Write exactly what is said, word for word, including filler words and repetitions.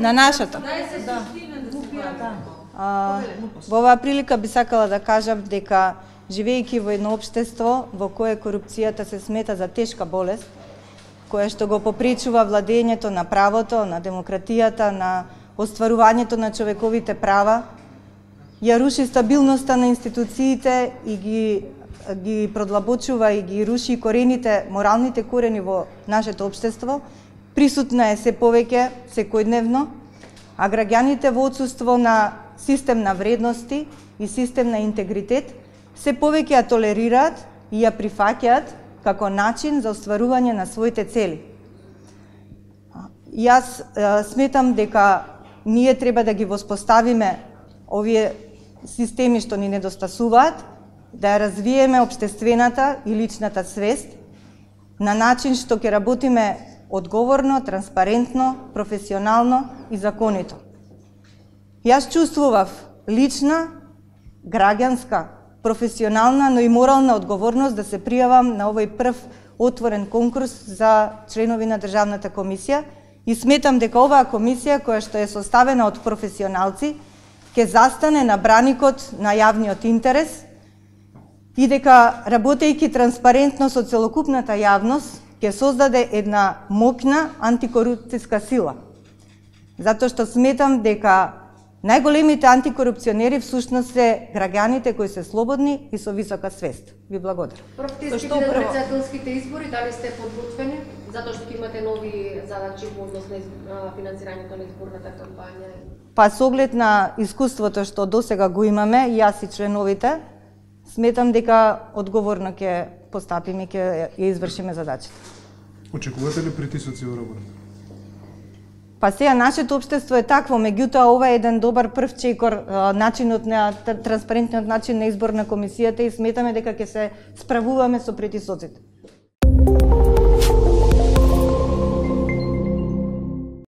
На нашата. А, во оваа прилика би сакала да кажам дека живејќи во едно општество во кое корупцијата се смета за тешка болест, која што го попречува владењето на правото, на демократијата, на остварувањето на човековите права, ја руши стабилноста на институциите и ги ги продлабочува и ги руши корените, моралните корени во нашето општество, присутна е се повеќе секојдневно, а граѓаните во отсуство на систем на вредности и систем на интегритет се повеќе ја толерираат и ја прифаќаат како начин за остварување на своите цели. Јас е, сметам дека ние треба да ги воспоставиме овие системи што ни недостасуваат, да ја развиеме општествената и личната свест на начин што ќе работиме одговорно, транспарентно, професионално и законито. Јас чувствував лична, граѓанска, професионална, но и морална одговорност да се пријавам на овој прв отворен конкурс за членови на Државната комисија и сметам дека оваа комисија, која што е составена од професионалци, ќе застане на браникот на јавниот интерес и дека, работејќи транспарентно со целокупната јавност, ќе создаде една моќна антикорупцијска сила. Затоа што сметам дека најголемите антикорупционери всушност се граѓаните кои се слободни и со висока свест. Ви благодарам. Протестите на председателските избори, дали сте подготвени? Затоа што имате нови задачи во однос на финансирањето на изборната кампања? Па со оглед на искуството што досега го имаме, јас и членовите, сметам дека одговорно ќе постапиме и ќе ја извршиме задачата. Очекувате ли притисоци во работа? Па сега нашето општество е такво, меѓутоа ова е еден добар прв чекор, начинот на транспарентниот начин на избор на комисијата и сметаме дека ќе се справуваме со притисоците.